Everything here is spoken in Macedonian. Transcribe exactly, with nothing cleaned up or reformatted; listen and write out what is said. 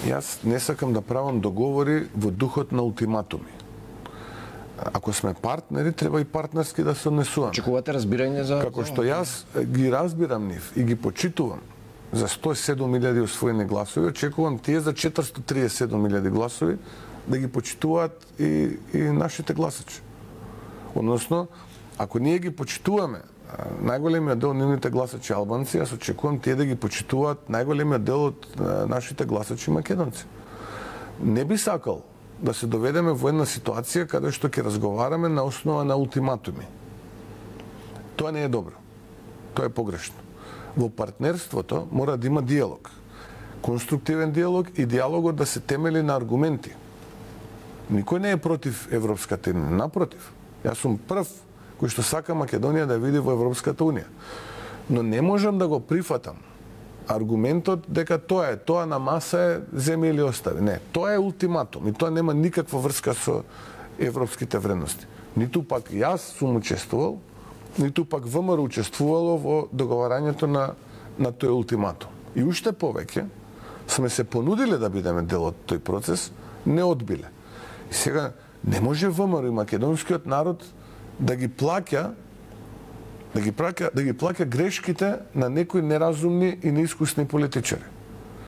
Јас не сакам да правам договори во духот на ултиматуми. Ако сме партнери, треба и партнерски да се однесуваме. Очекувате разбирање за... Како што јас ги разбирам нив и ги почитувам за сто и седум илјади освоени гласови, очекувам тие за четиристотини и триесет и седум илјади гласови да ги почитуваат и, и нашите гласачи. Односно, ако ние ги почитуваме најголемиот дел од нивните гласачи албанци, јас очекувам тие да ги почитуваат најголемиот дел од нашите гласачи македонци. Не би сакал да се доведеме во една ситуација каде што ќе разговараме на основа на ултиматуми. Тоа не е добро. Тоа е погрешно. Во партнерството мора да има диалог. Конструктивен диалог и диалогот да се темели на аргументи. Никој не е против Европската унија, напротив. Јас сум прв кој што сака Македонија да види во Европската унија. Но не можам да го прифатам аргументот дека тоа е, тоа на маса е земи или остави. Не, тоа е ултиматум и тоа нема никаква врска со европските вредности. Ниту пак јас сум учествувал, ниту пак ВМРО учествувало во договарањето на, на тој ултиматум. И уште повеќе сме се понудиле да бидеме дел од тој процес, не одбиле. И сега не може ВМРО и македонскиот народ да ги плаќа да ги плаќа, да ги плаќа грешките на некои неразумни и неискусни политичари.